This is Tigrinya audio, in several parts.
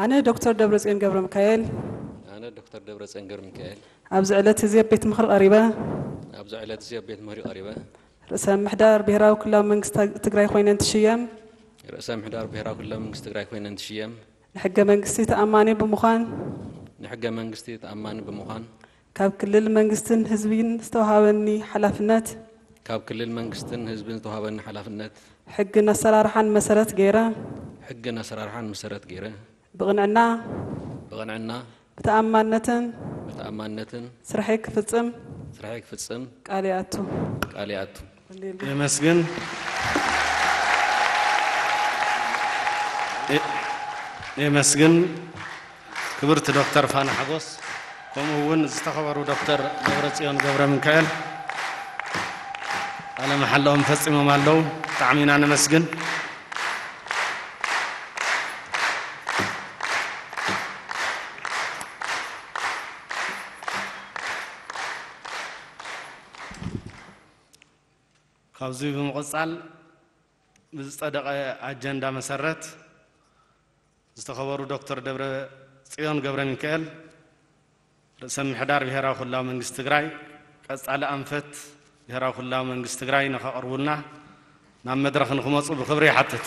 ኣነ ዶክተር ደብረጽዮን ገብረ ሚካኤል ኣነ ዶክተር ደብረጽዮን ገብረ ሚካኤል ኣብዚ ዕለት እዚ ኣብ ቤት ምኽሪ ቀሪበ ኣብዚ ዕለት እዚ ኣብ ቤት ምኽሪ ቀሪበ ርእሰ ምሕዳር ብሔራዊ ክልላዊ መንግስቲ ትግራይ ኮይነ እንትሽየም ርእሰ ምሕዳር ብሔራዊ ክልላዊ መንግስቲ ትግራይ ኮይነ እንትሽየም ንሕገ መንግስቲ ተኣማኒ ብምዃን ንሕገ መንግስቲ ተኣማኒ ብምዃን ካብ ክልል መንግስትን ህዝብን ዝተውሃበኒ ሓላፍነት ካብ ክልል መንግስትን ህዝብን ዝተውሃበኒ ሓላፍነት ሕግን ኣሰራርሓን መሰረት ገይረ ሕግን ኣሰራርሓን መሰረት ገይረ ብቕንዕና ብቕንዕና ብተኣማንነትን ብተኣማንነትን ስርሐይ ክፍጽም ስርሐይ ክፍጽም ቃል ይኣቱ። ቃል ይኣቱ። የመስግን። የመስግን ክብርቲ ዶክተር ፋና ሓጎስ፣ ከምኡ እውን ዝተኸበሩ ዶክተር ደብረጽዮን ገብረ ሚካኤል ቃለ መሓላኦም ፈጺሞም ኣለዉ። ብጣዕሚ ኢና ነመስግን። ካብዚ ብምቕጻል ብዝጸደቐ ኣጀንዳ መሰረት ዝተኸበሩ ዶክተር ደብረ ጽዮን ገብረ ሚካኤል ርእሰ ምሕዳር ብሔራዊ ክልላዊ መንግስቲ ትግራይ ቀጻሊ ኣንፈት ብሔራዊ ክልላዊ መንግስቲ ትግራይ ንኸቕርቡልና ናብ መድረኽ ንክመፁ ብክብሪ ይሓትት።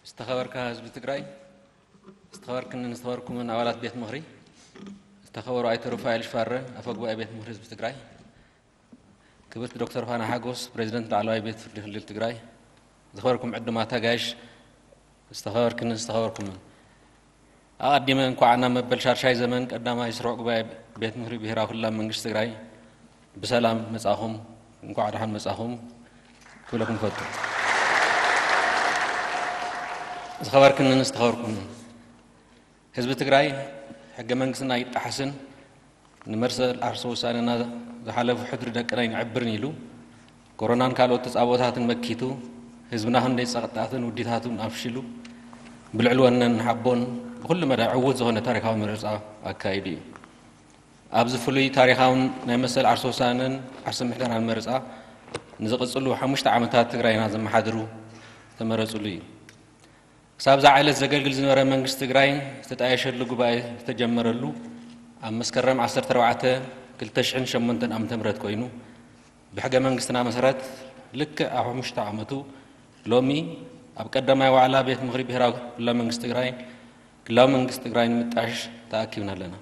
ዝተኸበርካ ህዝቢ ትግራይ፣ ዝተኸበርክንን ዝተኸበርኩምን ኣባላት ቤት ምኽሪ፣ ዝተኸበሩ ኣይተ ሩፋኤል ሽፋረ፣ ኣፈ ጉባኤ ቤት ምኽሪ ህዝቢ ትግራይ፣ ክብርቲ ዶክተር ፋና ሓጎስ፣ ፕሬዚደንት ላዕለዋይ ቤት ፍርዲ ክልል ትግራይ፣ ዝኸበርኩም ዕዱማት ኣጋይሽ፣ ዝተኸበርክንን ዝተኸበርኩምን፣ ኣቐዲመ እንኳዕ ናብ መበል ሻድሻይ ዘመን ቀዳማይ ስሩዕ ጉባኤ ቤት ምኽሪ ብሄራዊ ክልላዊ መንግስቲ ትግራይ ብሰላም መጻኹም፣ እንኳዕ ደሓን መጻኹም ክብለኩም እፈቱ። ዝኸበርክንን ዝተኸበርኩምን፣ ህዝቢ ትግራይ ሕገ መንግስትና ኣይጣሓስን፣ ንመሰል ዓርሰ ውሳነና ዝሓለፉ ሕድሪ ደቅና ኣይንዕብርን ኢሉ፣ ኮሮናን ካልኦት ተጻብኦታትን መኪቱ፣ ህዝብና ክንደይ ጸቕጥታትን ውዲታቱን ኣፍሺሉ፣ ብልዕሊ ወነን ሓቦን ብኹሉ መዳይ ዕዉት ዝኾነ ታሪኻዊ መረጻ ኣካይዱ እዩ። ኣብዚ ፍሉይ ታሪኻውን ናይ መሰል ዓርሰ ውሳነን ዓርሰ ምሕደራን መረጻ ንዝቕጽሉ ሓሙሽተ ዓመታት ትግራይና ዘመሓድሩ ዝተመረጽሉ እዩ። ክሳብ እዛ ዕለት ዘገልግል ዝነበረ መንግስቲ ትግራይ ዝተጣየሸሉ ጉባኤ ዝተጀመረሉ ኣብ መስከረም ዓሰርተ ኣርባዕተ ክልተ ሽሕን ሸሞንተን ዓመተ ምህረት ኮይኑ፣ ብሕገ መንግስትና መሰረት ልክዕ ኣብ ሓሙሽተ ዓመቱ ሎሚ ኣብ ቀዳማይ ዋዕላ ቤት ምኽሪ ብሄራዊ ክልላዊ መንግስቲ ትግራይ ክልላዊ መንግስቲ ትግራይ ንምጣሽ ተኣኪብና ኣለና።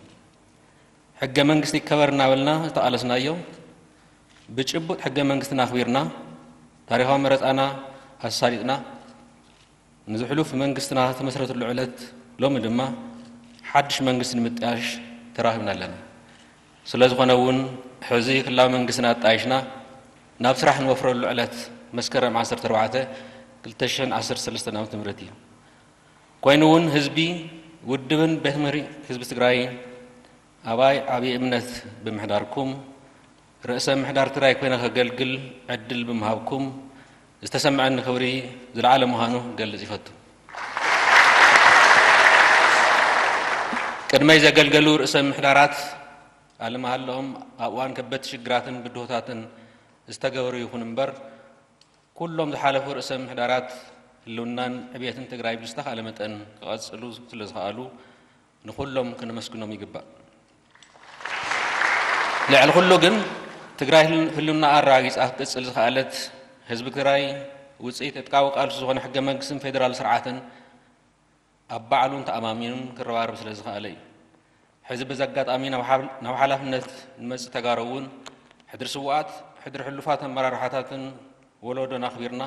ሕገ መንግስቲ ይከበር እናበልና ዝተቓለስናዮ ብጭቡጥ ሕገ መንግስትና ኣኽቢርና ታሪኻዊ መረፃና ኣሳሊጥና ንዝሕሉፍ መንግስትና ዝተመስረተሉ ዕለት ሎሚ ድማ ሓድሽ መንግስቲ ንምጥያሽ ተራኺብና ኣለና። ስለ ዝኾነ እውን ሕዚ ክልላዊ መንግስትና ኣጣይሽና ናብ ስራሕ ንወፍረሉ ዕለት መስከረም ዓሰርተ ኣርባዕተ ክልተ ሽሕን ዓሰርተ ሰለስተን ዓመተ ምህረት እዩ። ኮይኑ እውን ህዝቢ፣ ውድብን ቤት ምኽሪ ህዝቢ ትግራይን ኣባይ ዓብዪ እምነት ብምሕዳርኩም፣ ርእሰ ምሕዳር ትግራይ ኮይነ ከገልግል ዕድል ብምሃብኩም ዝተሰምዐኒ ክብሪ ዝለዓለ ምዃኑ ክገልጽ ይፈቱ። ቅድመይ ዘገልገሉ ርእሰ ምሕዳራት ኣለመሃላኦም ኣብ እዋን ከበድቲ ሽግራትን ብድሆታትን ዝተገበሩ ይኹን እምበር፣ ኩሎም ዝሓለፉ ርእሰ ምሕዳራት ህልውናን ዕብየትን ትግራይ ብዝተኻለ መጠን ክቐጽሉ ስለ ዝኸኣሉ ንኹሎም ከነመስግኖም ይግባእ። ልዕሊ ኩሉ ግን ትግራይ ህል- ህልውናኣ ኣረጋጊጻ ክትቅጽል ዝኸኣለት ህዝቢ ትግራይ ውጽኢት ዕጥቃዊ ቃልሱ ዝኾነ ሕገ መንግስትን ፌደራል ስርዓትን ኣብ ባዕሉን ተኣማሚኑን ክረባረብ ስለ ዝኸኣለ እዩ። ሕዚ በዚ ኣጋጣሚ ናብ ሓብ- ናብ ሓላፍነት ንመጽእ ተጋሩ እውን ሕድሪ ስውኣት፣ ሕድሪ ሕሉፋት ኣመራርሓታትን ወለዶን ኣኽቢርና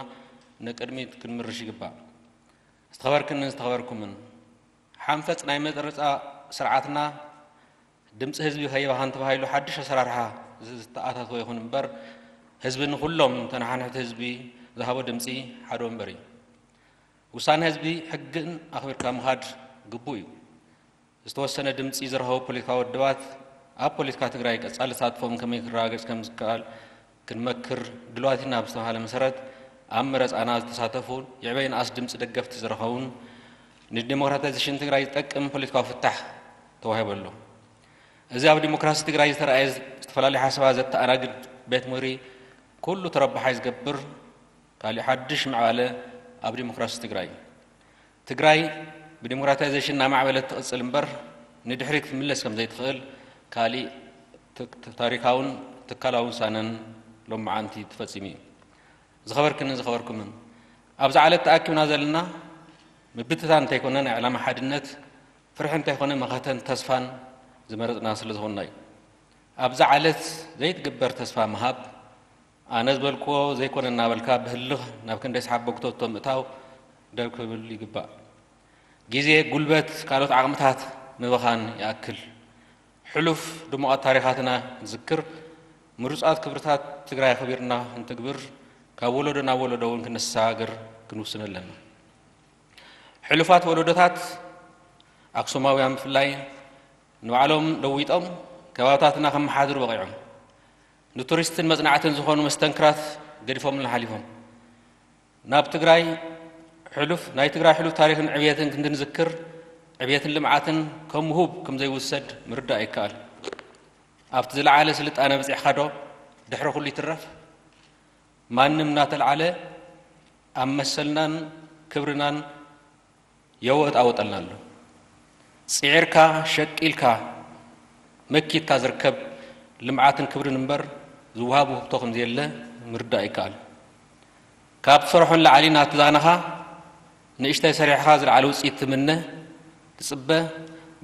ንቅድሚት ክንምርሽ ይግባእ። ዝተኸበርክንን ዝተኸበርኩምን፣ ሓንፈጽ ናይ መረጻ ስርዓትና ድምፂ ህዝቢ ከይባኸን ተባሂሉ ሓድሽ ኣሰራርሓ ዝተኣታተወ ይኹን እምበር፣ ህዝቢ ንኹሎም ተነሓንሕቲ ህዝቢ ዝሃቦ ድምፂ ሓደ ወንበር እዩ። ውሳነ ህዝቢ ሕግን ኣኽቢርካ ምኻድ ግቡእ እዩ። ዝተወሰነ ድምፂ ዝረኸቡ ፖለቲካዊ ውድባት ኣብ ፖለቲካ ትግራይ ቀፃሊ ተሳትፎም ከመይ ክረጋገፅ ከም ዝከኣል ክንመክር ድልዋት ኢና ብዝተባሃለ መሰረት ኣብ መረፃና ዝተሳተፉ ይዕበይ ንኣስ ድምፂ ደገፍቲ ዝረኸቡን ንዲሞክራታይዜሽን ትግራይ ዝጠቅም ፖለቲካዊ ፍታሕ ተዋሂቡ ኣሎ። እዚ ኣብ ዲሞክራሲ ትግራይ ዝተረኣየ ዝተፈላለዩ ሓሳባት ዘተኣናግድ ቤት ምኽሪ ኩሉ ተረባሓይ ዝገብር ካሊእ ሓድሽ ምዕባለ ኣብ ዲሞክራሲ ትግራይ እዩ። ትግራይ ብዲሞክራታይዜሽን እናማዕበለት ትቕፅል እምበር ንድሕሪት ክትምለስ ከም ዘይትኽእል ካሊእ ት- ታሪካውን ትካላውን ውሳነን ሎማዓንቲ ተፈፂሙ እዩ። ዝኸበርክንን ዝኸበርኩምን ኣብዚ ዓለት ተኣኪብና ዘለና ምብትታን እንተይኮነ ናይ ዕላማ ሓድነት ፍርሒ እንተይኮነ መኸተን ተስፋን ዝመረፅና ስለ ዝኾንና እዩ። ኣብዚ ዓለት ዘይትግበር ተስፋ ምሃብ ኣነ ዝበልክዎ ዘይኮነ እናበልካ ብህልኽ ናብ ክንደይ ሰሓቦ ክተቶ ምእታው ደው ክብል ይግባእ። ግዜ፣ ጉልበት፣ ካልኦት ዓቕምታት ምብኻን ይኣክል። ሕሉፍ ድሙቓት ታሪኻትና ንዝክር፣ ምሩፃት ክብርታት ትግራይ ኣኽቢርና ክንትግብር ካብ ወለዶ ናብ ወለዶ እውን ክንሰጋገር ክንውስን ኣለና። ሕሉፋት ወለዶታት ኣክሱማውያን ብፍላይ ንባዕሎም ለዊጦም ከባብታትና ከመሓድሩ በቒዖም። ንቱሪስትን መፅናዕትን ዝኾኑ መስተንክራት ገዲፎምልና ሓሊፎም። ናብ ትግራይ ሕሉፍ ናይ ትግራይ ሕሉፍ ታሪኽን ዕብየትን ክንድንዝክር ዕብየትን ልምዓትን ከም ውሁብ ከም ዘይውሰድ ምርዳእ ይከኣል። ኣብቲ ዝለዓለ ስልጣነ በፂሕካ ዶ ድሕሪ ኩሉ ይትረፍ? ማንም እናተልዓለ ኣብ መሰልናን ክብርናን የወጣወጠልና ኣሎ። ፅዒርካ ሸቂልካ መኪትካ ዝርከብ ልምዓትን ክብርን እምበር ዝወሃብ ውህብቶ ከምዘየለ ምርዳእ ይከኣል። ካብ ትሰርሖ ንላዕሊ ናቲ ዛናኻ ንእሽተይ ሰሪሕኻ ዝለዓለ ውፅኢት ትምነ ትፅበ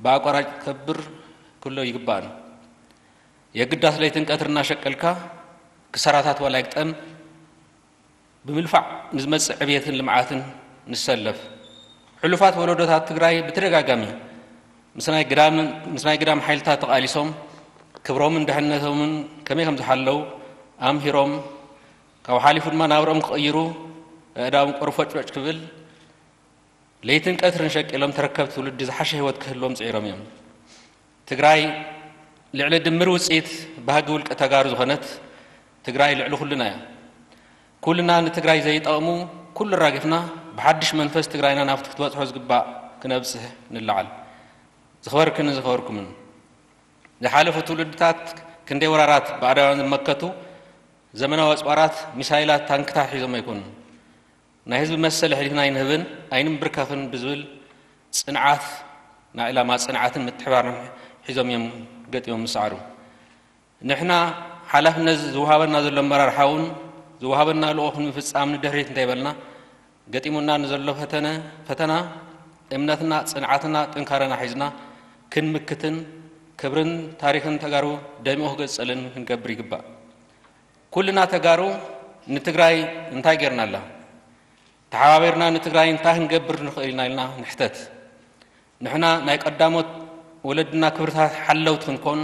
ብኣቋራጭ ትከብር ክሎ ይግባእን የግዳስ ለይትን ቀትር እናሸቀልካ ክሳራታት ዋላ ይግጠም ብምልፋዕ ንዝመፅእ ዕብየትን ልምዓትን ንሰለፍ። ሕሉፋት ወለዶታት ትግራይ ብተደጋጋሚ ምስ ናይ ግዳምን ምስ ናይ ግዳም ሓይልታት ተቓሊሶም ክብሮምን ድሕነቶምን ከመይ ከም ዝሓለው ኣምሂሮም ካብኡ ሓሊፉ ድማ ናብርኦም ክቕይሩ ኣእዳዎም ቆርፎጭወጭ ክብል ለይትን ቀትርን ሸቂሎም ተረከብቲ ትውልዲ ዝሓሸ ህይወት ክህልዎም ፅዒሮም እዮም። ትግራይ ልዕሊ ድምር ውፅኢት ባህጊ ውልቀ ተጋሩ ዝኾነት ትግራይ ልዕሊ ኩልና እያ። ኩልና ንትግራይ ዘይጠቕሙ ኩሉ ኣራጊፍና ብሓድሽ መንፈስ ትግራይና ናብቲ ክትበፅሖ ዝግባእ ክነብፅሕ ንለዓል። ዝኸበርክንን ዝኸበርኩምን ዝሓለፉ ትውልድታት ክንደይ ወራራት ባዕዳውያን ዝመከቱ ዘመናዊ ኣፅዋራት፣ ሚሳይላት፣ ታንክታት ሒዞም ኣይኮኑን። ናይ ህዝቢ መሰል ኣሕሊፍና ኣይንህብን ኣይንንብርከኽን ብዝብል ፅንዓት ናይ ዕላማ ፅንዓትን ምትሕባርን ሒዞም እዮም ገጢሞም ዝሰዓሩ። ንሕና ሓላፍነት ዝወሃበና ዘሎ ኣመራርሓ እውን ዝወሃበና ልኡኽ ንምፍፃም ንድሕሪት እንተይበልና ገጢሙና ንዘሎ ፈተነ ፈተና እምነትና ፅንዓትና ጥንካረና ሒዝና ክንምክትን ክብርን ታሪኽን ተጋሩ ደሚቑ ክገፀልን ክንገብር ይግባእ። ኩልና ተጋሩ ንትግራይ እንታይ ጌርናላ? ተሓባቢርና ንትግራይ እንታይ ክንገብር ንኽእል ኢና ኢልና ንሕተት። ንሕና ናይ ቀዳሞት ወለድና ክብርታት ሓለውቲ ክንኮን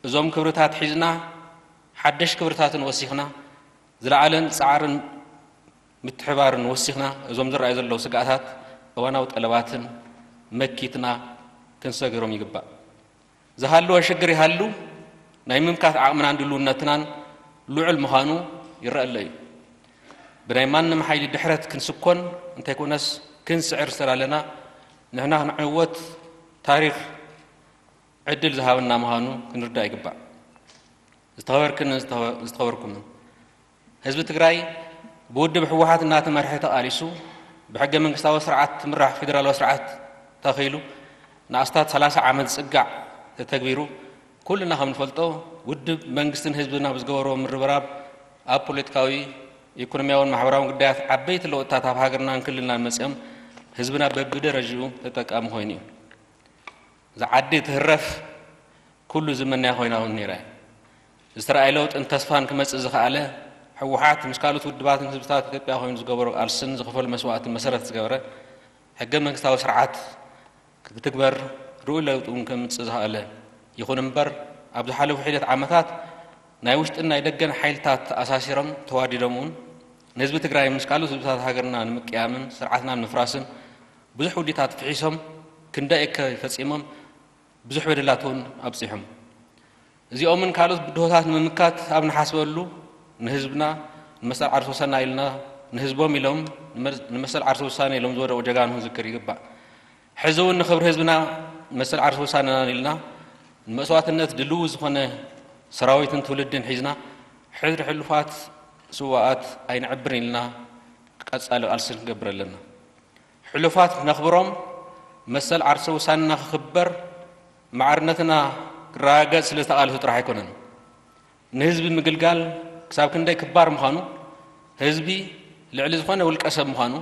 እዞም ክብርታት ሒዝና ሓደሽ ክብርታትን ወሲኽና ዝለዓለን ፃዕርን ምትሕባርን ወሲኽና እዞም ዝረኣዩ ዘለዉ ስግኣታት እዋናዊ ጠለባትን መኪትና ክንሰግሮም ይግባእ። ዝሃለወ ሽግር ይሃሉ ናይ ምምካት ዓቕምናን ድልውነትናን ልዑል ምዃኑ ይረአ ኣሎ እዩ። ብናይ ማንም ሓይሊ ድሕረት ክንስኮን እንተይኮነስ ክንስዕር ዝተላለና ንሕና ክንዕወት ታሪኽ ዕድል ዝሃበና ምዃኑ ክንርዳእ ይግባእ። ዝተኸበርክን ዝተኸበርኩምን ህዝቢ ትግራይ ብውድብ ህወሓት እናተመርሐ ተቓሊሱ ብሕገ መንግስታዊ ስርዓት ትምራሕ ፌደራላዊ ስርዓት ተኺሉ ንኣስታት ሰላሳ ዓመት ዝፅጋዕ ተተግቢሩ ኩልና ከም ንፈልጦ ውድብ መንግስትን ህዝብን ኣብ ዝገበርዎ ምርብራብ ኣብ ፖለቲካዊ ኢኮኖሚያውን ማሕበራውን ጉዳያት ዓበይቲ ለውጥታት ኣብ ሃገርናን ክልልናን መፅኦም ህዝብና በብደረጅኡ ተጠቃሚ ኮይኑ እዩ። እዛ ዓዲ ትህረፍ ኩሉ ዝምነያ ኮይና እውን ነይራ እያ። ዝተረኣየ ለውጥን ተስፋን ክመፅእ ዝኸኣለ ህወሓት ምስ ካልኦት ውድባትን ህዝብታት ኢትዮጵያ ኮይኑ ዝገበሮ ቃልስን ዝኸፈሎ መስዋእትን መሰረት ዝገበረ ሕገ መንግስታዊ ስርዓት ክትግበር ርኡይ ለውጢ እውን ከምፅእ ዝኸኣለ ይኹን እምበር ኣብ ዝሓለፉ ሒደት ዓመታት ናይ ውሽጥን ናይ ደገን ሓይልታት ተኣሳሲሮም ተዋዲዶም እውን ንህዝቢ ትግራይ ምስ ካልኦት ህዝብታት ሃገርና ንምቅያምን ስርዓትና ንምፍራስን ብዙሕ ውዲታት ፍሒሶም፣ ክንደይ እከ ፈጺሞም፣ ብዙሕ በደላት እውን ኣብጺሖም። እዚኦምን ካልኦት ብድሆታት ንምምካት ኣብ ንሓስበሉ፣ ንህዝብና ንመሰል ዓርሰ ውሳና ኢልና፣ ንህዝቦም ኢሎም ንመ-፣ ንመሰል ዓርሰ ውሳነ ኢሎም ዝወደቑ ጀጋኑ ክንዝክር ይግባእ። ሕዚ እውን ንኽብሪ ህዝብና መሰል ዓርሰ ውሳነና ኢልና ንመስዋእትነት ድልው ዝኾነ ሰራዊትን ትውልድን ሒዝና ሕድሪ ሕሉፋት ስዋኣት ኣይንዕብርን ኢልና ቀጻሊ ቃልሲ ክንገብር ኣለና። ሕሉፋት ነኽብሮም፣ መሰል ዓርሰ ውሳንና ክኽበር፣ ማዕርነትና ክረጋገጽ ስለ ዝተቓለሱ ጥራሕ ኣይኮነን። ንህዝቢ ምግልጋል ክሳብ ክንደይ ክባር ምዃኑ፣ ህዝቢ ልዕሊ ዝኾነ ውልቀ ሰብ ምዃኑ፣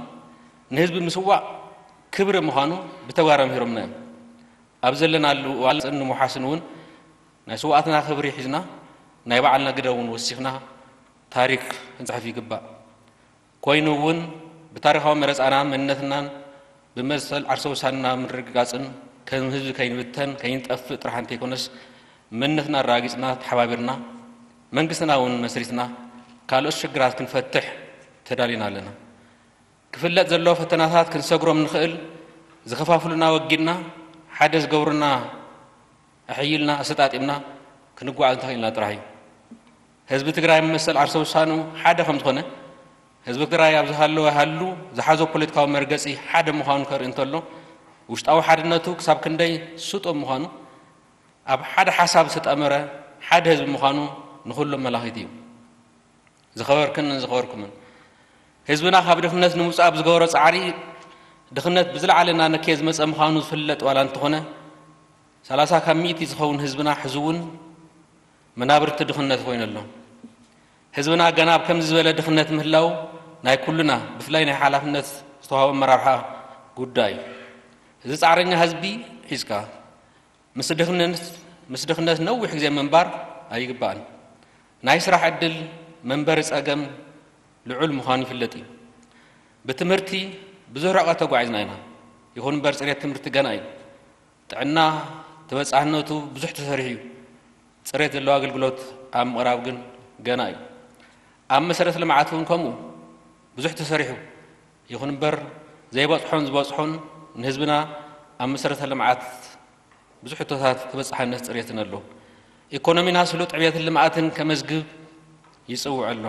ንህዝቢ ምስዋእ ክብሪ ምዃኑ ብተግባር ኣምሂሮምና እዮም። ኣብ ዘለናሉ እዋን ንምውሓስን እውን ናይ ስዋኣትና ክብሪ ሒዝና ናይ ባዕልና ግደ እውን ወሲኽና ታሪክ ክንጽሕፍ ይግባእ። ኮይኑ እውን ብታሪኻዊ መረጻና መንነትናን ብመሰል ዓርሰ ውሳንና ምርግጋጽን ከም ህዝቢ ከይንብተን ከይንጠፍእ ጥራሕ እንተይኮነስ መንነትና ኣረጋጊጽና ተሓባቢርና መንግስትና እውን መስሪትና ካልኦት ሽግራት ክንፈትሕ ተዳሊና ኣለና። ክፍለጥ ዘለዎ ፈተናታት ክንሰግሮም ንኽእል ዝኸፋፍሉና ወጊድና ሓደ ዝገብሩና ኣሕይልና ኣሰጣጢምና ክንጓዓዝ እንተኽኢልና ጥራሕ እዩ። ህዝቢ ትግራይ መሰል ዓርሰ ውሳኑ ሓደ ከም ዝኾነ ህዝቢ ትግራይ ኣብ ዝሃለወ ሃሉ ዝሓዞ ፖለቲካዊ መርገጺ ሓደ ምዃኑ ከርኢ እንተሎ ውሽጣዊ ሓድነቱ ክሳብ ክንደይ ስጡም ምዃኑ ኣብ ሓደ ሓሳብ ዝተጠመረ ሓደ ህዝቢ ምዃኑ ንኹሉ መላኺት እዩ። ዝኸበርክንን ዝኸበርኩምን ህዝብና ካብ ድኽነት ንምውፃእ ኣብ ዝገበሮ ፃዕሪ ድኽነት ብዝለዓለ እናነከየ ዝመፀ ምዃኑ ዝፍለጥ ዋላ እንተኾነ ሰላሳ ካብ ሚእቲ ዝኸውን ህዝብና ሕዚ እውን መናብርቲ ድኽነት ኮይኑ ኣሎ። ህዝብና ገና ኣብ ከምዚ ዝበለ ድኽነት ምህላው ናይ ኩሉና ብፍላይ ናይ ሓላፍነት ዝተዋህቦ ኣመራርሓ ጉዳይ እዩ። እዚ ፃዕረኛ ህዝቢ ሒዝካ ምስ ድኽነት ነዊሕ ግዜ ምንባር ኣይግባእን። ናይ ስራሕ ዕድል መንበሪ ጸገም ልዑል ምዃኑ ይፍለጥ እዩ። ብትምህርቲ ብዙሕ ርሕቀት ተጓዒዝና ኢና። ይኹን እምበር ጽሬት ትምህርቲ ገና እዩ። ጥዕና ተበጻሕነቱ ብዙሕ ተሰሪሑ እዩ። ጽሬት ዘለዎ ኣገልግሎት ኣብ ምቕራብ ግን ገና እዩ። ኣብ መሰረተ ልምዓት እውን ከምኡ ብዙሕ ተሰሪሑ። ይኹን እምበር ዘይበጽሖን ዝበጽሖን ንህዝብና ኣብ መሰረተ ልምዓት ብዙሕ ሕቶታት ተበጻሕነት ጽሬትን ኣሎ። ኢኮኖሚና ስሉጥ ዕብየትን ልምዓትን ከመዝግብ ይጽውዕ ኣሎ።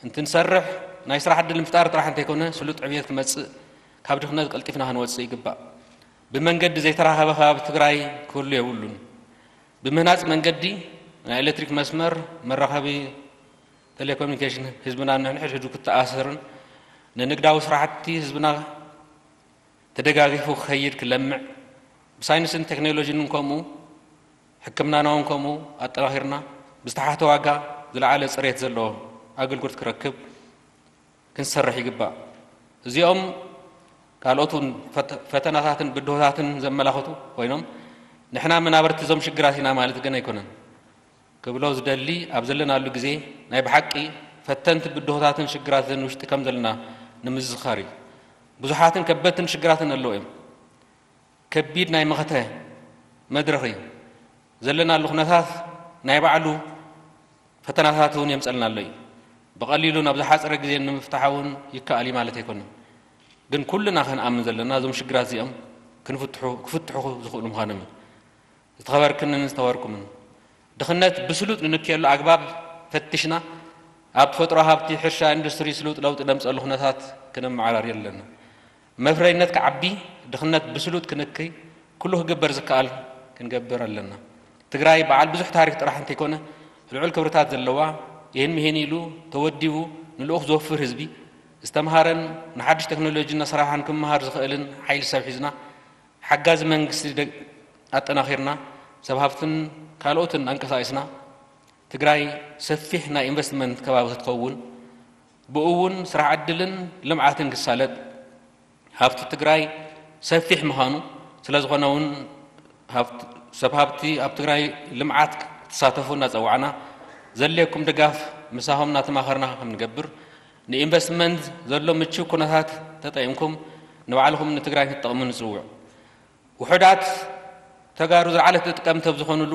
እንትንሰርሕ ናይ ስራሕ ዕድል ምፍጣር ጥራሕ እንተይኮነ ስሉጥ ዕብየት ክመጽእ ካብ ድኽነት ቀልጢፍና ክንወጽእ ይግባእ። ብመንገዲ ዘይተራኸበ ከባቢ ትግራይ ክህሉ የብሉን። ብምህናጽ መንገዲ ናይ ኤሌክትሪክ መስመር መራኸቢ ቴሌኮሙኒኬሽን ህዝብና ንሕድሕዱ ክተኣሰርን ንንግዳዊ ስራሕቲ ህዝብና ተደጋጊፉ ክኸይድ ክለምዕ ብሳይንስን ቴክኖሎጂን ከምኡ ሕክምናና እውን ከምኡ ኣጠናኺርና ብዝተሓተ ዋጋ ዝለዓለ ፅሬት ዘለዎ ኣገልግሎት ክረክብ ክንሰርሕ ይግባእ። እዚኦም ካልኦት እውን ፈተናታትን ብድሆታትን ዘመላኽቱ ኮይኖም ንሕና መናበርቲ እዞም ሽግራት ኢና ማለት ግን ኣይኮነን። ክብሎ ዝደሊ ኣብ ዘለናሉ ግዜ ናይ ብሓቂ ፈተንቲ ብድሆታትን ሽግራትን ውሽጢ ከም ዘለና ንምዝኻር እዩ። ብዙሓትን ከበድትን ሽግራትን ኣለዉ እዮም። ከቢድ ናይ መኸተ መድረኽ እዩ። ዘለናሉ ኩነታት ናይ ባዕሉ ፈተናታት እውን የምፀልና ኣሎ እዩ። ብቐሊሉ ናብ ዝሓፀረ ግዜ ንምፍታሕ እውን ይከኣል እዩ ማለት ኣይኮነን። ግን ኩልና ክንኣምን ዘለና እዞም ሽግራት እዚኦም ክንፍትሑ ክፍትሑ ዝኽእሉ ምዃኖም እዩ። ዝተኸበርክንን ዝተኸበርኩምን ድኽነት ብስሉጥ ንንክየሉ ኣግባብ ፈትሽና ኣብ ተፈጥሮ ሃብቲ ሕርሻ ኢንዱስትሪ ስሉጥ ለውጢ ነምፀሉ ኩነታት ክነመዓራሪ ኣለና። መፍረይነት ክዓቢ ድኽነት ብስሉጥ ክንክይ ኩሉ ክግበር ዝከኣል ክንገብር ኣለና። ትግራይ በዓል ብዙሕ ታሪክ ጥራሕ እንተይኮነ ልዑል ክብርታት ዘለዋ ይህን ምሂን ኢሉ ተወዲቡ ንልኡኽ ዝወፍር ህዝቢ ዝተምሃረን ንሓድሽ ቴክኖሎጂ እናሰራሕን ክመሃር ዝኽእልን ሓይሊ ሰብ ሒዝና ሓጋዚ መንግስቲ ኣጠናኺርና ሰብ ሃፍትን ካልኦትን ኣንቀሳቒስና ትግራይ ሰፊሕ ናይ ኢንቨስትመንት ከባቢ ክትኸውን ብኡ እውን ስራሕ ዕድልን ልምዓትን ክሳለጥ ሃፍቲ ትግራይ ሰፊሕ ምዃኑ ስለዝኾነ እውን ሰብ ሃፍቲ ኣብ ትግራይ ልምዓት ክትሳተፉ እናፀዋዕና ዘድልየኩም ድጋፍ ምሳኹም እናተማኸርና ከምንገብር ንኢንቨስትመንት ዘሎ ምችው ኩነታት ተጠቒምኩም ንባዕልኹም ንትግራይ ክትጠቕሙ ንፅውዕ። ውሑዳት ተጋሩ ዝለዓለ ተጠቀምቲ ኣብ ዝኾኑሉ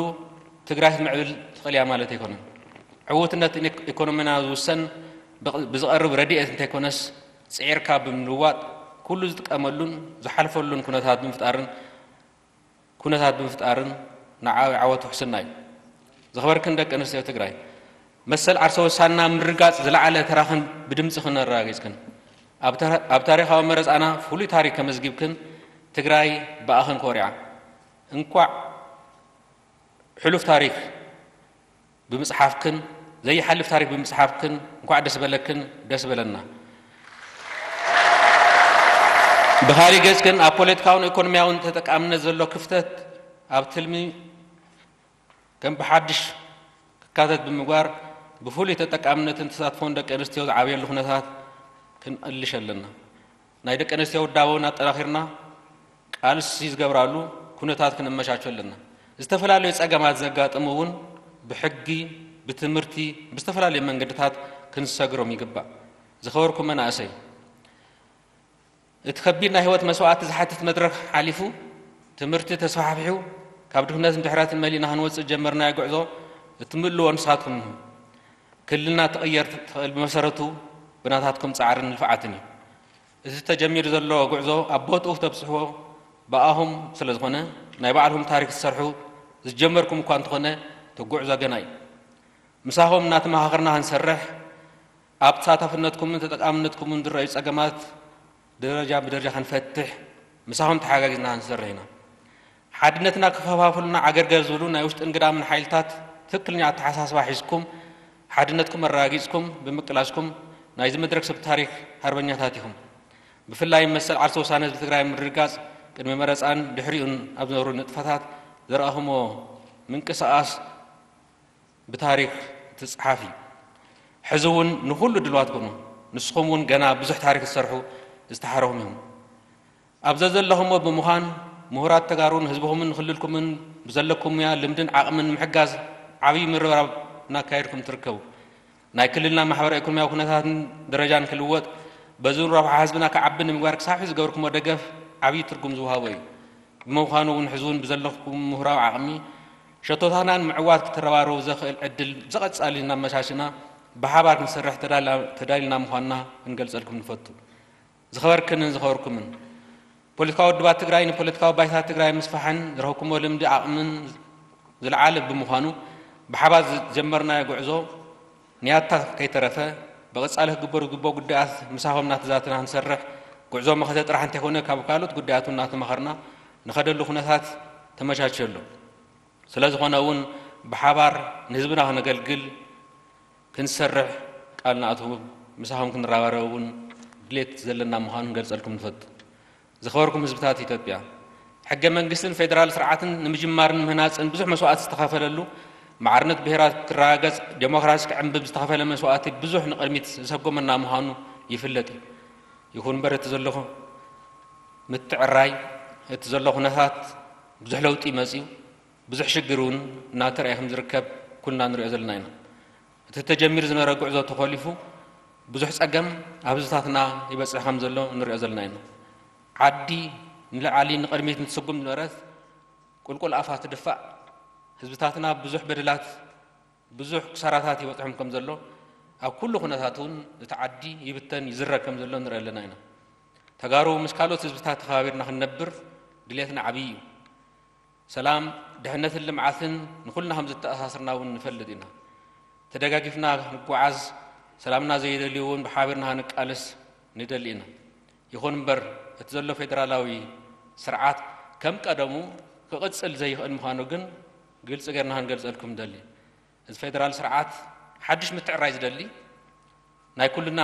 ትግራይ ክትምዕብል ትኽእል እያ ማለት ኣይኮነን። ዕውትነት ኢኮኖሚና ዝውሰን ብዝቐርብ ረድኤት እንተይኮነስ፣ ጽዒርካ ብምልዋጥ፣ ኩሉ ዝጥቀመሉን ዝሓልፈሉን ኩነታት ብምፍጣርን፣ ኩነታት ብምፍጣርን ንዓዊ ዓወት ውሕስና እዩ። ዝኸበርክን ደቂ ኣንስትዮ ትግራይ፣ መሰል ዓርሰ ውሳና ምርጋጽ ዝለዓለ ተራኽን ብድምጽኽን ኣረጋጊጽክን፣ ኣብ ታሪኻዊ መረጻና ፍሉይ ታሪክ ከመዝጊብክን፣ ትግራይ ብኣኽን ኮሪዓ። እንኳዕ ሕሉፍ ታሪክ ብምጽሓፍክን፣ ዘይሓልፍ ታሪክ ብምጽሓፍክን እንኳዕ ደስ በለክን፣ ደስ በለና። ብኻሊእ ገጽ ግን ኣብ ፖለቲካውን ኢኮኖሚያውን ተጠቃምነት ዘሎ ክፍተት ኣብ ትልሚ ከም ብሓድሽ ክካተት ብምግባር ብፍሉይ ተጠቃምነትን ተሳትፎን ደቂ ኣንስትዮ ዝዓብየሉ ኩነታት ክንእልሽ ኣለና። ናይ ደቂ ኣንስትዮ ውዳበ እውን ኣጠናኺርና ቃልሲ ዝገብራሉ ኩነታት ክነመቻቹ ኣለና። ዝተፈላለዩ ጸገማት ዘጋጥሙ እውን ብሕጊ፣ ብትምህርቲ፣ ብዝተፈላለዩ መንገድታት ክንሰግሮም ይግባእ። ዝኸበርኩም መናእሰይ፣ እቲ ከቢድ ናይ ህይወት መስዋእቲ ዝሓትት መድረኽ ሓሊፉ፣ ትምህርቲ ተስፋሕፊሑ፣ ካብ ድኽነትን ድሕረትን መሊእና ክንወጽእ ዝጀመርናዮ ጉዕዞ እትምእልዎ ንሳትኩም ኢኹም። ክልልና ትቕየር ትኽእል ብመሰረቱ ብናታትኩም ጻዕርን ልፍዓትን እዩ። እዚ ተጀሚሩ ዘሎ ጉዕዞ ኣብ ቦትኡ ተብጽሕዎ ብኣኹም ስለ ዝኾነ፣ ናይ ባዕልኹም ታሪክ ትሰርሑ ዝጀመርኩም እኳ እንተኾነ፣ እቲ ጉዕዞ ገና እዩ። ምሳኹም እናተመኻኸርና ክንሰርሕ፣ ኣብ ተሳታፍነትኩምን ተጠቃምነትኩምን ዝረኣዩ ጸገማት ደረጃ ብደረጃ ክንፈትሕ፣ ምሳኹም ተሓጋጊዝና ክንሰርሕ ኢና። ሓድነትና ክኸፋፍሉና ዓገርገር ዝብሉ ናይ ውሽጥን ግዳምን ሓይልታት ትክክለኛ ኣተሓሳስባ ሒዝኩም፣ ሓድነትኩም ኣረጋጊጽኩም ብምቅላስኩም፣ ናይዚ መድረክ ሰብ ታሪክ ሃርበኛታት ኢኹም። ብፍላይ መሰል ዓርሰ ውሳነ ህዝቢ ትግራይ ምርግጋጽ ቅድሚ መረጻን ድሕሪኡን ኣብ ዝነበሩ ንጥፈታት ዘርኣኹሞ ምንቅስቓስ ብታሪክ ትጽሓፍ እዩ። ሕዚ እውን ንኹሉ ድልዋት ኩኑ። ንስኹም እውን ገና ብዙሕ ታሪክ ትሰርሑ ዝተሓረኹም ኢኹም። ኣብ ዘዘለኹምዎ ብምዃን፣ ምሁራት ተጋሩን ህዝብኹምን ክልልኩምን ብዘለኩም ሙያ፣ ልምድን ዓቕምን ምሕጋዝ ዓብዪ ምርብራብ እናካየድኩም ትርከቡ። ናይ ክልልና ማሕበራዊ ኢኮኖሚያዊ ኩነታትን ደረጃን ክልወጥ፣ በዚ እውን ረብሓ ህዝብና ክዓቢ ንምግባር ክሳብ ሕዚ ዝገበርኩሞ ደገፍ ዓብዪ ትርጉም ዝወሃቦ እዩ። ብምዃኑ እውን ሕዚ እውን ብዘለኩም ምሁራዊ ዓቕሚ ሸቶታትና ንምዕዋት ክትረባረቡ ዘኽእል ዕድል ብዝቐጻሊ እናመቻችና ብሓባር ክንሰርሕ ተዳላ-፣ ተዳሊና ምዃንና ክንገልጸልኩም ንፈቱ። ዝኸበርክንን ዝኸበርኩምን፣ ፖለቲካዊ ውድባት ትግራይ ንፖለቲካዊ ባይታ ትግራይ ምስፋሕን ዝረኸብኩሞ ልምዲ ዓቕምን ዝለዓለ ብምዃኑ፣ ብሓባር ዝጀመርናዮ ጉዕዞ ንያታ ከይተረፈ ብቐጻሊ ክግበሩ ዝግብኦ ጉዳያት ምሳኹም እናተዛተና ክንሰርሕ፣ ጉዕዞ መኸተ ጥራሕ እንተይኮነ ካብ ካልኦት ጉዳያት እውን እናተማኸርና ንኸደሉ ኩነታት ተመቻችዮ ኣሎ። ስለ ዝኾነ እውን ብሓባር ንህዝብና ክነገልግል ክንሰርሕ ቃል ንኣትዉ፣ ምሳኹም ክንረባረብ እውን ድሌት ዘለና ምዃኑ ክንገልጸልኩም ንፈቱ። ዝኸበርኩም ህዝብታት ኢትዮጵያ፣ ሕገ መንግስትን ፌደራል ስርዓትን ንምጅማርን ምህናጽን ብዙሕ መስዋእቲ ዝተኸፈለሉ፣ ማዕርነት ብሄራት ክረጋገጽ፣ ዴሞክራሲ ክዕንብብ ዝተኸፈለ መስዋእቲ ብዙሕ ንቕድሚት ዘሰጎመና ምዃኑ ይፍለጥ እዩ። ይኹን እምበር እቲ ዘሎ ምትዕራይ፣ እቲ ዘሎ ኩነታት ብዙሕ ለውጢ መጺኡ፣ ብዙሕ ሽግር እውን እናተረኣየ ከም ዝርከብ ኩልና ንሪኦ ዘለና ኢና። እቲ ተጀሚሩ ዝነበረ ጉዕዞ ተኾሊፉ ብዙሕ ጸገም ኣብ ህዝብታትና ይበጽሕ ከም ዘሎ ንሪኦ ዘለና ኢና። ዓዲ ንላዕሊ ንቕድሚት እንትስጉም ዝነበረት ቁልቁል ኣፋ ትድፋእ፣ ህዝብታትና ብዙሕ በደላት፣ ብዙሕ ክሳራታት ይበጽሖም ከም ዘሎ፣ ኣብ ኩሉ ኩነታት እውን እቲ ዓዲ ይብተን ይዝረግ ከም ዘሎ ንርኢ ኣለና ኢና። ተጋሩ ምስ ካልኦት ህዝብታት ተኸባቢርና ክንነብር ድሌትና ዓብዪ እዩ። ሰላም፣ ድሕነትን ልምዓትን ንኹልና ከም ዘተኣሳስርና እውን ንፈልጥ ኢና። ተደጋጊፍና ክንጓዓዝ፣ ሰላምና ዘይደልዩ እውን ብሓቢርና ክንቃለስ ንደሊ ኢና። ይኹን እምበር፣ እቲ ዘሎ ፌደራላዊ ስርዓት ከም ቀደሙ ክቕጽል ዘይኽእል ምዃኑ ግን ግልጺ ጌርና ክንገልጸልኩም ንደሊ። እዚ ፌደራል ስርዓት ሓድሽ ምትዕራይ ዝደሊ፣ ናይ ኩልና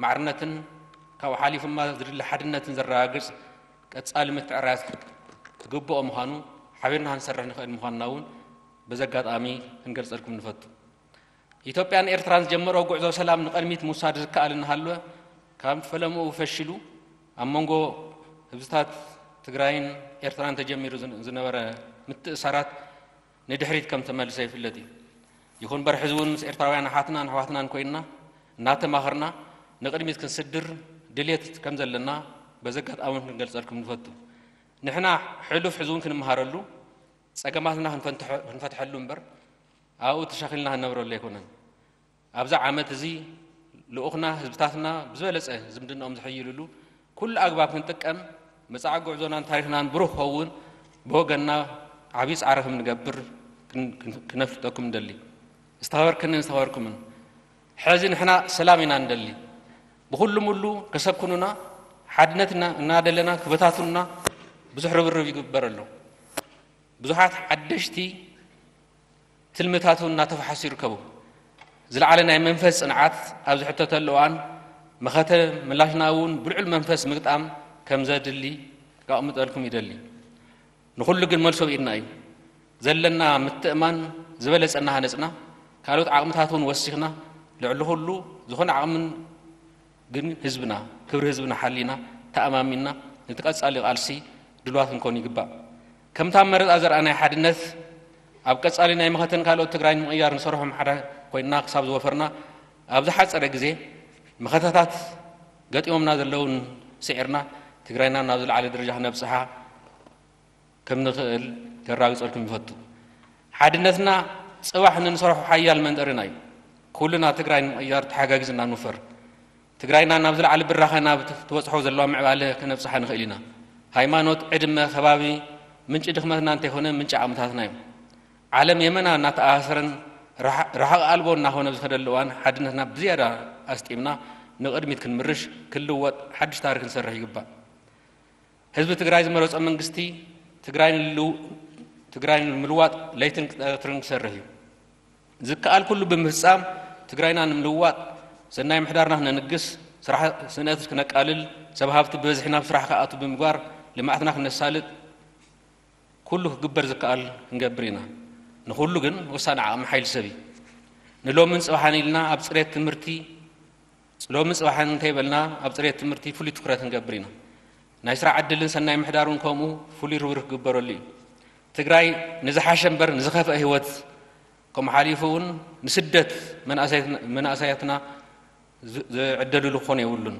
ማዕርነትን ካብኡ ሓሊፉ ድማ ዝድለ ሓድነትን ዘረጋግጽ ቀጻሊ ምትዕርራያት ክግብኦ ምዃኑ ሓቢርና ክንሰርሕ ንኽእል ምዃንና እውን በዚ ኣጋጣሚ ክንገልጸልኩም ንፈቱ። ኢትዮጵያን ኤርትራን ዝጀመረኦ ጉዕዞ ሰላም ንቐድሚት ምውሳድ ዝከኣል እናሃለወ፣ ካብ ፈለምኡ ፈሺሉ ኣብ መንጎ ህዝብታት ትግራይን ኤርትራን ተጀሚሩ ዝን-፣ ዝነበረ ምትእሳራት ንድሕሪት ከም ተመልሰ ይፍለጥ እዩ። ይኹን እምበር፣ ሕዚ እውን ምስ ኤርትራውያን ኣሓትናን ኣሕዋትናን ኮይንና እናተማኸርና ንቕድሚት ክንስድር ድልየት ከም ዘለና በዚ ኣጋጣሚ እውን ክንገልጸልኩም ንፈቱ። ንሕና ሕሉፍ ሕዚ እውን ክንመሃረሉ፣ ጸገማትና ክንፈንትሐ-፣ ክንፈትሐሉ እምበር፣ ኣብኡ ተሻኺልና ክንነብረሉ ኣይኮነን። ኣብዚ ዓመት እዚ ልኡኽና ህዝብታትና ብዝበለጸ ዝምድናኦም ዝሕይልሉ ኩሉ ኣግባብ ክንጥቀም፣ መጻኢ ጉዕዞናን ታሪኽናን ብሩህ ክኸውን ብወገንና ዓብዪ ጻዕሪ ከም ንገብር ክን-፣ ክን-፣ ክነፍልጠኩም ንደሊ። ዝተኸበርክንን ዝተኸበርኩምን፣ ሕዚ ንሕና ሰላም ኢና ንደሊ። ብኹሉ ሙሉ ከሰኩኑና፣ ሓድነት እና-፣ እናደለና ክበታትኑና ብዙሕ ርብርብ ይግበር ኣሎ። ብዙሓት ሓደሽቲ ትልምታት እውን እናተፈሓሱ ይርከቡ። ዝለዓለ ናይ መንፈስ ጽንዓት ኣብ ዝሕተተሉ እዋን፣ መኸተ ምላሽና እውን ብልዑል መንፈስ ምግጣም ከም ዘድሊ ከቕምጠልኩም ይደሊ። ንኹሉ ግን መልሶ ብኢድና እዩ። ዘለና ምትእማን ዝበለጸ እናሃነጽና፣ ካልኦት ዓቕምታት እውን ወሲኽና፣ ልዕሊ ኩሉ ዝኾነ ዓቕምን ግን ህዝብና፣ ክብሪ ህዝብና ሓሊና፣ ተኣማሚንና፣ ነቲ ቀጻሊ ቃልሲ ድልዋት ክንኮን ይግባእ። ከምታ መረጻ ዘርኣናይ ሓድነት፣ ኣብ ቀጻሊ ናይ መኸተን ካልኦት ትግራይ ንምቕያር ንሰርሖም ሓደ ኮይንና ክሳብ ዝወፈርና፣ ኣብ ዝሓጸረ ግዜ መኸተታት ገጢሞምና ዘለውን ስዒርና፣ ትግራይና ናብ ዝለዓለ ደረጃ ክነብጽሓ ከም ንኽእል ከራግጸልኩም ይፈቱ። ሓድነትና ጽባሕ ንንሰርሖ ሓያል መንጠሪና እዩ። ኩልና ትግራይ ንምቕያር ተሓጋጊዝና ንውፈር። ትግራይና ናብ ዝለዓለ ብራኸ ናብ ትበጽሖ ዘለዋ ምዕባለ ከነብጽሓ ንኽእል ኢና። ሃይማኖት፣ ዕድመ፣ ከባቢ ምንጪ ድኽመትና እንተይኮነ ምንጪ ዓቕምታትና እዩ። ዓለም የመና እናተኣሳሰረን ርሓ-፣ ርሓቕ ኣልቦ እናኾነ ብዝኸደሉ እዋን ሓድነትና ብዝያዳ ኣስጢምና ንቕድሚት ክንምርሽ፣ ክንልወጥ፣ ሓድሽ ታሪኽ ክንሰርሕ ይግባእ። ህዝቢ ትግራይ ዝመረጾ መንግስቲ ትግራይ ንልው-፣ ትግራይ ንምልዋጥ ለይትን ቀትርን ክሰርሕ እዩ። ዝከኣል ኩሉ ብምፍጻም ትግራይና ንምልዋጥ፣ ሰናይ ምሕዳርና ክነንግስ፣ ስራሕ ስእነት ክነቃልል፣ ሰብ ሃፍቲ ብበዝሒ ናብ ስራሕ ክኣቱ ብምግባር ልምዓትና ክነሳልጥ ኩሉ ክግበር ዝከኣል ክንገብር ኢና። ንኹሉ ግን ወሳኒ ዓቕሚ ሓይሊ ሰብ እዩ። ንሎምን ጽባሕን ኢልና ኣብ ጽሬት ትምህርቲ፣ ሎምን ጽባሕን እንተይበልና ኣብ ጽሬት ትምህርቲ ፍሉይ ትኹረት ክንገብር ኢና። ናይ ስራሕ ዕድልን ሰናይ ምሕዳር እውን ከምኡ ፍሉይ ርብርብ ክግበረሉ እዩ። ትግራይ ንዝሓሸ እምበር ንዝኸፍአ ህይወት፣ ከምኡ ሓሊፉ እውን ንስደት መናእሰያትና፣ መናእሰያትና ዝ-፣ ዝዕደልሉ ክኾን የብሉን።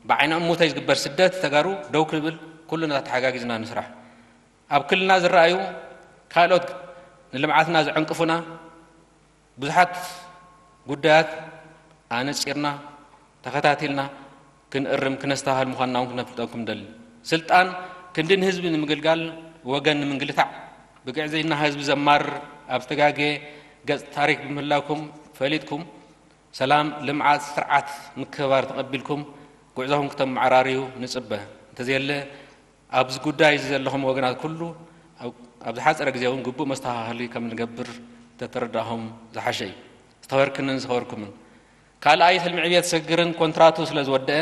ብዓይኒ እሙተይ ዝግበር ስደት ተጋሩ ደው ክብል ኩልና ተሓጋጊዝና ንስራሕ። ኣብ ክልልና ዝረኣዩ ካልኦት ንልምዓትና ዝዕንቅፉና ብዙሓት ጉዳያት ኣነጺርና፣ ተኸታቲልና ክንእርም፣ ክነስተባህል ምዃንና እውን ክነፍልጠኩም ንደሊ። ስልጣን ክንዲ ንህዝቢ ንምግልጋል፣ ወገን ንምንግልታዕ፣ ብግዕዝይና ህዝቢ ዘማርር፣ ኣብ ዝተጋገየ ገጽ ታሪኽ ብምህላውኩም ፈሊጥኩም፣ ሰላም፣ ልምዓት፣ ስርዓት ምክብባር ተቐቢልኩም ጉዕዞኹም ክተመዓራርዩ ንጽበ። እንተዘየለ፣ ኣብዚ ጉዳይ እዚ ዘለኹም ወገናት ኩሉ ኣብ፣ ኣብ ዝሓጸረ ግዜ እውን ግቡእ መስተኻኸሊ ከም ንገብር ተተረዳእኹም ዝሓሸ እዩ። ዝተኸበርክንን ዝተኸበርኩምን፣ ካልኣይ ትልሚ ዕብየት ስግግርን ኮንትራቱ ስለ ዝወደአ፣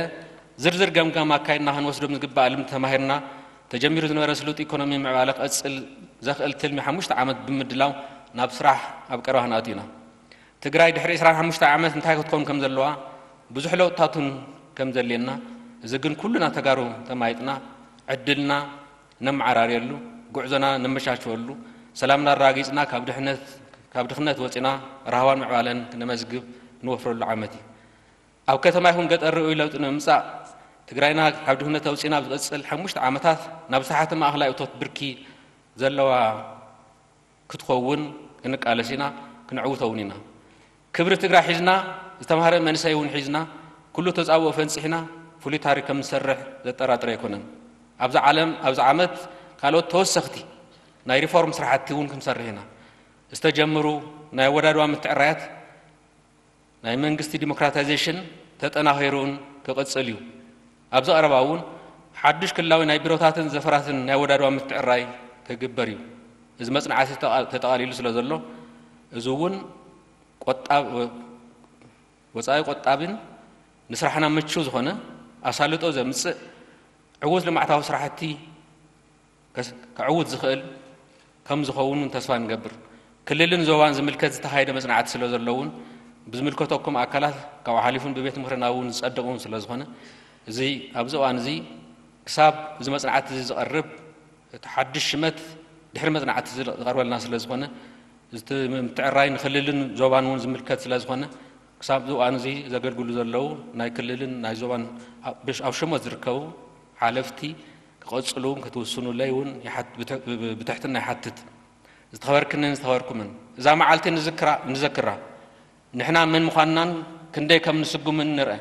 ዝርዝር ገምጋም ኣካይድና ክንወስዶ ዝግባእ ልምዲ ተማሂርና፣ ተጀሚሩ ዝነበረ ስሉጥ ኢኮኖሚ ምዕባለ ክቐጽል ዘኽእል ትልሚ ሓሙሽተ ዓመት ብምድላው ናብ ስራሕ ኣብ ቀረባ ክንኣቱ ኢና። ትግራይ ድሕሪ ዕስራን ሓሙሽተ ዓመት እንታይ ክትከውን ከም ዘለዋ፣ ብዙሕ ለውጥታቱን ከም ዘድልየና፣ እዚ ግን ኩልና ተጋሩ ተማይጥና ዕድልና ነመዓራርየሉ፣ ጉዕዞና ነመቻችወሉ፣ ሰላምና ኣረጋጊጽና ካብ ድሕነት፣ ካብ ድኽነት ወጺና ራህዋን ምዕባለን ክነመዝግብ ንወፍረሉ ዓመት እዩ። ኣብ ከተማ ይኹን ገጠር ርኡይ ለውጢ ንምምጻእ፣ ትግራይና ካብ ድኽነት ኣውጺና ኣብ ዝቐጽል ሓሙሽተ ዓመታት ናብ ዝተሓተ ማእኸላይ እቶት ብርኪ ዘለዋ ክትኸውን ክንቃለስ ኢና፣ ክንዕውቶ እውን ኢና። ክብሪ ትግራይ ሒዝና፣ ዝተምሃረ መንእሰይ እውን ሒዝና፣ ኩሉ ተጻብኦ ፈንጺሕና ፍሉይ ታሪኽ ከም ንሰርሕ ዘጠራጥር ኣይኮነን። ኣብዚ ዓለም፣ ኣብዚ ዓመት ካልኦት ተወሰኽቲ ናይ ሪፎርም ስራሕቲ እውን ክንሰርሕ ኢና። ዝተጀመሩ ናይ ኣወዳድባ ምትዕራያት ናይ መንግስቲ ዲሞክራታይዜሽን ተጠናኺሩን ክቕጽል እዩ። ኣብዚ ቀረባ እውን ሓዱሽ ክልላዊ ናይ ቢሮታትን ዘፈራትን ናይ ኣወዳድባ ምትዕራይ ክግበር እዩ። እዚ መጽናዕቲ ተጠቓ-፣ ተጠቓሊሉ ስለ ዘሎ፣ እዚ እውን ቆጣብ-፣ ወጻኢ ቆጣቢን ንስራሕና ምቹው ዝኾነ ኣሳልጦ ዘምጽእ ዕዉት ልምዓታዊ ስራሕቲ ከስ-፣ ከዕውት ዝኽእል ከም ዝኸውን እውን ተስፋ ንገብር። ክልልን ዞባን ዝምልከት ዝተኻየደ መጽናዕቲ ስለ ዘሎ እውን ብዝምልከተኩም ኣካላት ካብኡ ሓሊፉን ብቤት ምኽርና እውን ዝጸድቕ እውን ስለ ዝኾነ፣ እዚ ኣብዚ እዋን እዚ ክሳብ እዚ መጽናዕቲ እዚ ዝቐርብ እቲ ሓድሽ ሽመት ድሕሪ መጽናዕቲ እዚ ዝቐርበልና ስለ ዝኾነ፣ እዚ ምትዕርራይ ንክልልን ዞባን እውን ዝምልከት ስለ ዝኾነ፣ ክሳብ እዚ እዋን እዚ ዘገልግሉ ዘለዉ ናይ ክልልን ናይ ዞባን ኣብ፣ ኣብ ሹመት ዝርከቡ ሓለፍቲ ክቐጽሉ እውን ክትውስኑለይ እውን ይሓት-፣ ብትሕ-፣ ብትሕትና ይሓትት። ዝተኸበርክንን ዝተኸበርኩምን፣ እዛ መዓልቲ ንዝክራ-፣ ንዘክራ። ንሕና መን ምዃንናን ክንደይ ከም ንስጉምን ንርአ።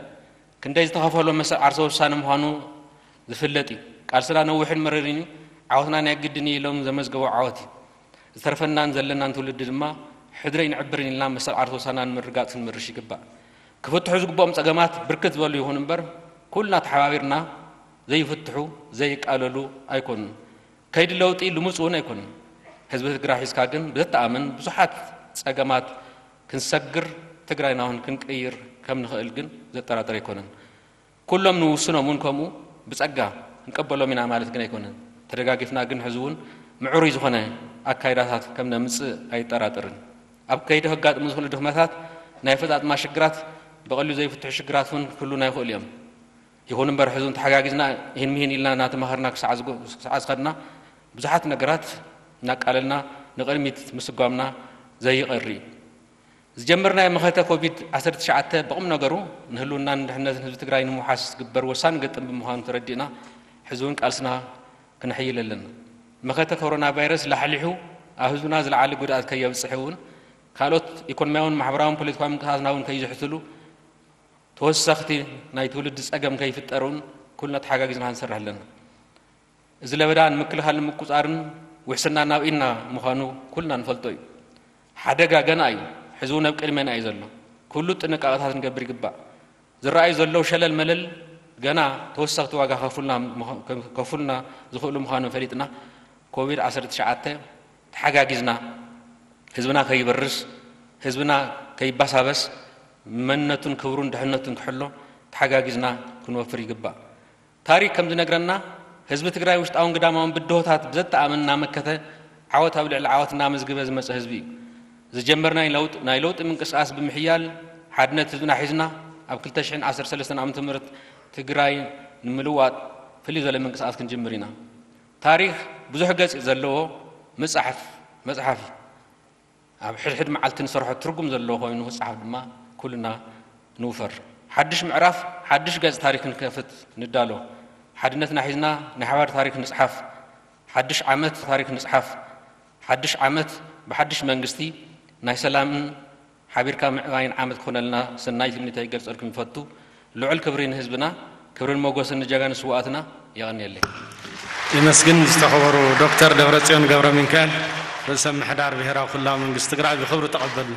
ክንደይ ዝተኸፈሎ መሰል ዓርሰ ውሳነ ምዃኑ ዝፍለጥ እዩ። ቃልስና ነዊሕን መረርን እዩ። ዓወትና ናይ ግድን እዩ ኢሎም ዘመዝገቦ ዓወት እዩ። ዝተርፈናን ዘለናን ትውልዲ ድማ ሕድረይ ንዕብርን ኢልና መሰል ዓርሰ ውሳና ንምርጋጽ ክንምርሽ ይግባእ። ክፍትሑ ዝግብኦም ጸገማት ብርክት ዝበሉ ይኹን እምበር፣ ኩልና ተሓባቢርና ዘይፍትሑ ዘይቃለሉ ኣይኮኑን። ከይዲ ለውጢ ልሙጽ እውን ኣይኮኑን። ህዝቢ ትግራይ ሒዝካ ግን ብዘተኣምን ብዙሓት ጸገማት ክንሰግር፣ ትግራይና እውን ክንቅይር ከም ንኽእል ግን ዘጠራጥር ኣይኮነን። ኩሎም ንውስኖም እውን ከምኡ ብጸጋ ክንቀበሎም ኢና ማለት ግን ኣይኮነን። ተደጋጊፍና ግን ሕዚ እውን ምዕሩይ ዝኾነ ኣካይዳታት ከም ነምጽእ ኣይጠራጥርን። ኣብ ከይዲ ከጋጥሙ ዝኽእሉ ድኽመታት ናይ ኣፈጻጽማ ሽግራት ብቐሊሉ ዘይፍትሑ ሽግራት እውን ክህሉና ይኽእሉ እዮም። ይኹን እምበር ሕዚ እውን ተሓጋጊዝና ይህን ምሂን ኢልና እናተማኸርና ክሳዕ ዝጎ-፣ ክሳዕ ዝኸድና ብዙሓት ነገራት እናቃለልና ንቕድሚት ምስጓምና ዘይቐሪ እዩ። ዝጀመርናዮ መኸተ ኮቪድ ዓሰርተ ትሽዓተ ብቕም ነገሩ ንህልውናን ድሕነትን ህዝቢ ትግራይ ንምውሓስ ዝግበር ወሳኒ ገጥም ብምዃኑ ተረዲእና ሕዚ እውን ቃልስና ክነሕይል ኣለና። መኸተ ኮሮና ቫይረስ ላሕሊሑ ኣብ ህዝብና ዝለዓለ ጉድኣት ከየብፅሕ እውን ካልኦት ኢኮኖሚያውን ማሕበራውን ፖለቲካዊ ምንቅስቃስና እውን ከይዝሕትሉ ተወሰኽቲ ናይ ትውልዲ ጸገም ከይፍጠር እውን ኩልና ተሓጋጊዝና ክንሰርሕ ኣለና። እዚ ለበዳ ንምክልኻል ንምቁጻርን ውሕስና ናብ ኢድና ምዃኑ ኩልና ንፈልጦ እዩ። ሓደጋ ገና እዩ። ሕዚ እውን ኣብ ቅድሜና እዩ ዘሎ። ኩሉ ጥንቃቐታት ክንገብር ይግባእ። ዝረኣዩ ዘለዉ ሸለል መለል ገና ተወሰኽቲ ዋጋ ከፉልና ምዃ-፣ ከፉልና ዝኽእሉ ምዃኑ ፈሊጥና ኮቪድ ዓሰርተ ትሽዓተ ተሓጋጊዝና ህዝብና ከይበርስ፣ ህዝብና ከይባሳበስ፣ መንነቱን ክብሩን ድሕነቱን ክሕሎ ተሓጋጊዝና ክንወፍር ይግባእ። ታሪክ ከም ዝነግረና ህዝቢ ትግራይ ውሽጣውን ግዳማውን ብድሆታት ብዘተኣምን እናመከተ ዓወት ኣብ ልዕሊ ዓወት እናመዝገበ ዝመፀ ህዝቢ እዩ። ዝጀመርናይ ለውጥ፣ ናይ ለውጢ ምንቅስቃስ ብምሕያል ሓድነት ህዝብና ሒዝና ኣብ ክልተ ሽሕን ዓሰርተ ሰለስተን ዓመተ ምህረት ትግራይ ንምልዋጥ ፍልይ ዝበለ ምንቅስቃስ ክንጅምር ኢና። ታሪክ ብዙሕ ገጽ ዘለዎ መጽሓፍ፣ መጽሓፍ እዩ። ኣብ ሕድሕድ መዓልቲ ንሰርሖ ትርጉም ዘለዎ ኮይኑ ክጽሓፍ ድማ ኩልና ንውፈር። ሓድሽ ምዕራፍ፣ ሓድሽ ገጽ ታሪክ ክንከፍት ንዳሎ። ሓድነትና ሒዝና ናይ ሓባር ታሪክ ንጽሓፍ። ሓድሽ ዓመት ታሪክ ንጽሓፍ። ሓድሽ ዓመት ብሓድሽ መንግስቲ ናይ ሰላምን ሓቢርካ ምዕባይን ዓመት ክኾነልና ሰናይ ትምኒተይ ይገልጸልኩም ይፈቱ። ልዑል ክብሪ ንህዝብና፣ ክብርን ሞገስን ንጀጋኑ ስውኣትና። የቐንየለይ። ይመስግን ዝተኸበሩ ዶክተር ደብረጽዮን ገብረ ሚካኤል፣ ርእሰ ምምሕዳር ብሄራዊ ክልላዊ መንግስቲ ትግራይ፣ ብኽብሪ ተቐበሉ።